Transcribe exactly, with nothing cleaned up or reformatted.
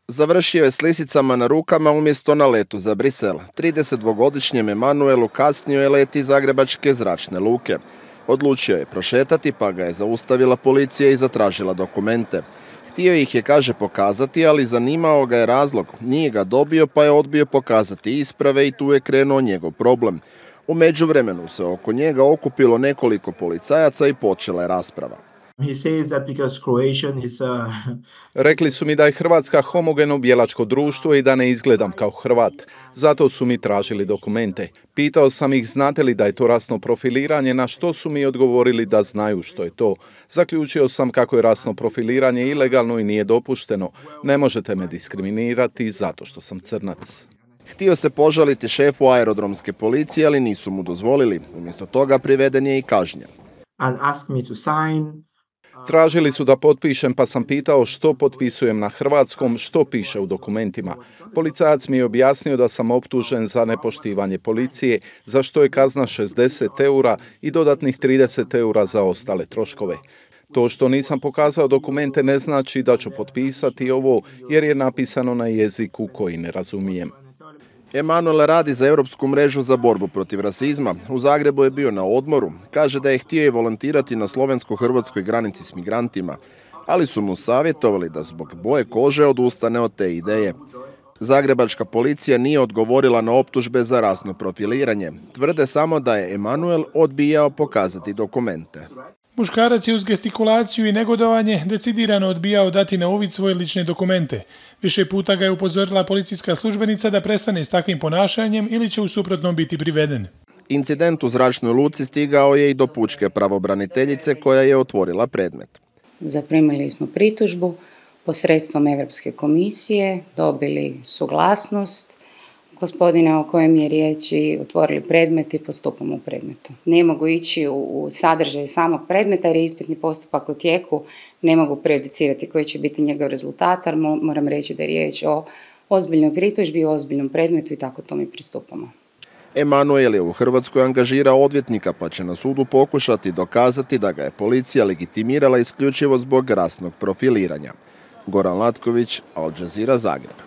Završio je s lisicama na rukama umjesto na letu za Brisel. tridesetdvogodišnjem Emanuelu kasnio je let iz Zagrebačke zračne luke. Odlučio je prošetati, pa ga je zaustavila policija i zatražila dokumente. Htio ih je, kaže, pokazati, ali zanimao ga je razlog. Nije ga dobio, pa je odbio pokazati isprave i tu je krenuo njegov problem. U međuvremenu se oko njega okupilo nekoliko policajaca i počela je rasprava. Rekli su mi da je Hrvatska homogeno bijelačko društvo i da ne izgledam kao Hrvat. Zato su mi tražili dokumente. Pitao sam ih znate li da je to rasno profiliranje, na što su mi odgovorili da znaju što je to. Zaključio sam kako je rasno profiliranje ilegalno i nije dopušteno. Ne možete me diskriminirati zato što sam crnac. Htio se požaliti šefu aerodromske policije, ali nisu mu dozvolili. Umjesto toga priveden je i kažnjen. Tražili su da potpišem, pa sam pitao što potpisujem na hrvatskom, što piše u dokumentima. Policajac mi je objasnio da sam optužen za nepoštivanje policije, za što je kazna šezdeset eura i dodatnih trideset eura za ostale troškove. To što nisam pokazao dokumente ne znači da ću potpisati ovo, jer je napisano na jeziku koji ne razumijem. Emanuel radi za Europsku mrežu za borbu protiv rasizma. U Zagrebu je bio na odmoru. Kaže da je htio i volontirati na slovensko-hrvatskoj granici s migrantima, ali su mu savjetovali da zbog boje kože odustane od te ideje. Zagrebačka policija nije odgovorila na optužbe za rasno profiliranje. Tvrde samo da je Emanuel odbijao pokazati dokumente. Muškarac je uz gestikulaciju i negodovanje decidirano odbijao dati na uvid svoje lične dokumente. Više puta ga je upozorila policijska službenica da prestane s takvim ponašanjem ili će u suprotnom biti priveden. Incident u zračnoj luci stigao je i do pučke pravobraniteljice koja je otvorila predmet. Zaprimili smo pritužbu posredstvom Europske komisije, dobili suglasnost gospodina o kojem je riječ i otvorili predmet i postupamo u predmetu. Ne mogu ići u, u sadržaj samog predmeta jer je ispitni postupak u tijeku, ne mogu prejudicirati koji će biti njegov rezultat, ali moram reći da je riječ o ozbiljnoj pritužbi, o ozbiljnom predmetu i tako to mi pristupamo. Emanuel je u Hrvatskoj angažirao odvjetnika, pa će na sudu pokušati dokazati da ga je policija legitimirala isključivo zbog rasnog profiliranja. Goran Latković, Al Jazeera, Zagreb.